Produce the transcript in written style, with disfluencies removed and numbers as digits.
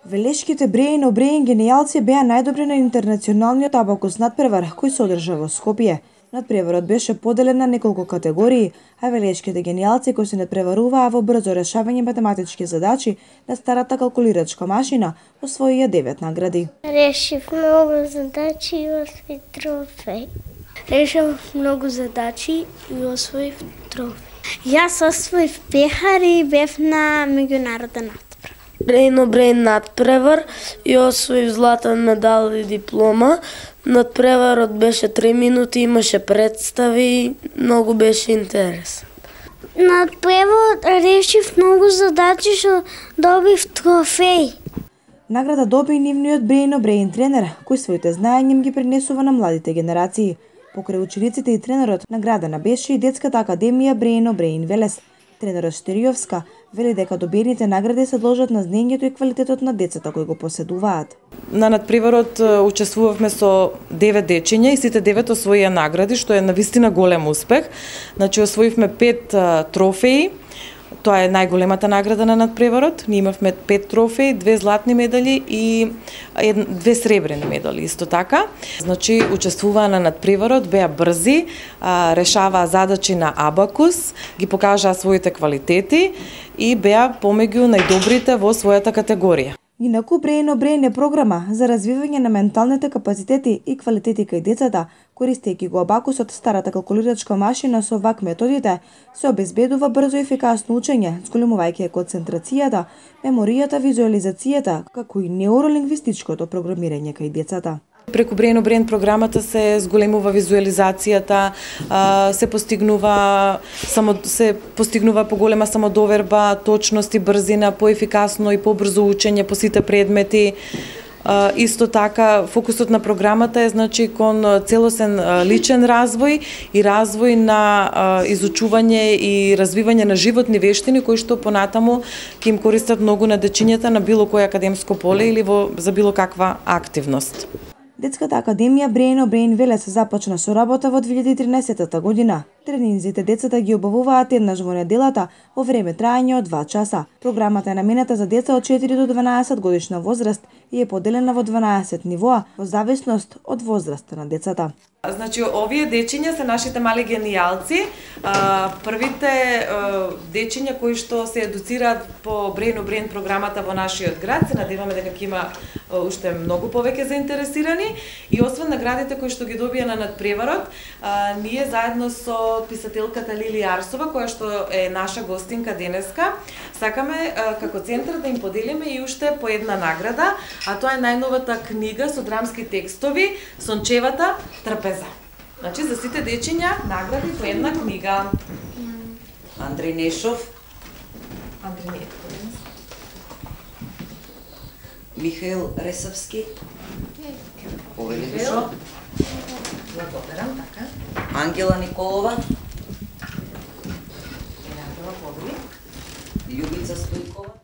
Велешките Бреин Обреин генијалци беа најдобри на интернационалниот абакус надпревар кој се одржа во Скопје. Надпреварот беше поделен на неколку категории, а велешките генијалци кои се надпреваруваа во брзо решавање математички задачи на старата калкулирачка машина освоија 9 награди. Решив многу задачи и освоив трофеј. Решив многу задачи и освоив трофеј. Јас освоив пехар и бев на меѓународен надпревар. Бреин Обреин надпревар и освоив златен медал и диплома. Надпреварот беше 3 минути, имаше представи, многу беше интересен. Надпреварот решив многу задачи што добив трофеј. Награда доби и нивниот Бреин Обреин тренер, кој своите знаења ги пренесува на младите генерации. Покрај учениците и тренерот, наградена беше и детската академија Бреин Обреин Велес. Тренерот Штериовска вели дека добиените награди се должат на знаењето и квалитетот на децата кои го поседуваат. На надпреварот учествувавме со 9 дечиња и сите 9 освоија награди, што е навистина голем успех. Значи освоивме 5 трофеи. Тоа е најголемата награда на надпреварот. Ние имавме 5 трофеи, 2 златни медали и 2 сребрени медали исто така. Значи учествуваа на надпреварот, беа брзи, решаваа задачи на абакус, ги покажаа своите квалитети и беа помеѓу најдобрите во својата категорија. Инаку Бреин Обреин е програма за развивање на менталните капацитети и квалитети кај децата, користејќи го абакусот, старата калкулирачка машина со вак методите, се обезбедува брзо и ефикасно учење, зголемувајќи концентрацијата, меморијата, визуализацијата, како и неуролингвистичкото програмирање кај децата. Преку Бреин Обреин програмата се зголемува визуализацијата, се постигнува поголема самодоверба, точност и брзина, поефикасно и побрзо учење по сите предмети. Исто така, фокусот на програмата е кон целосен личен развој и развој на изучување и развивање на животни вештини кои што понатаму ќе им користат многу на дечињата на било кој академско поле или за било каква активност. Детската академија Бреин Обреин Велес започна со работа во 2013 година. Тренинзите децата ги обавуваат еднаш во неделата во време траење од 2 часа. Програмата е наменета за деца од 4 до 12 годишна возраст и е поделена во 12 нивоа во зависност од возраста на децата. Значи, овие дечиња се нашите мали генијалци. Првите дечиња кои што се едуцираат по Бреин Обреин програмата во нашиот град, се надеваме дека ќе има уште многу повеќе заинтересирани и освен наградите кои што ги добија на надпреварот, ние заедно со писателката Лили Арсова, која што е наша гостинка денеска, сакаме како центар да им поделиме и уште по една награда, а тоа е најновата книга со драмски текстови Сончевата трпеза. Значи за сите дечиња награди по една книга. Андреј Нешов, Михаил Ресавски, Овелишо, Ангела Николова, Љубица Стојкова.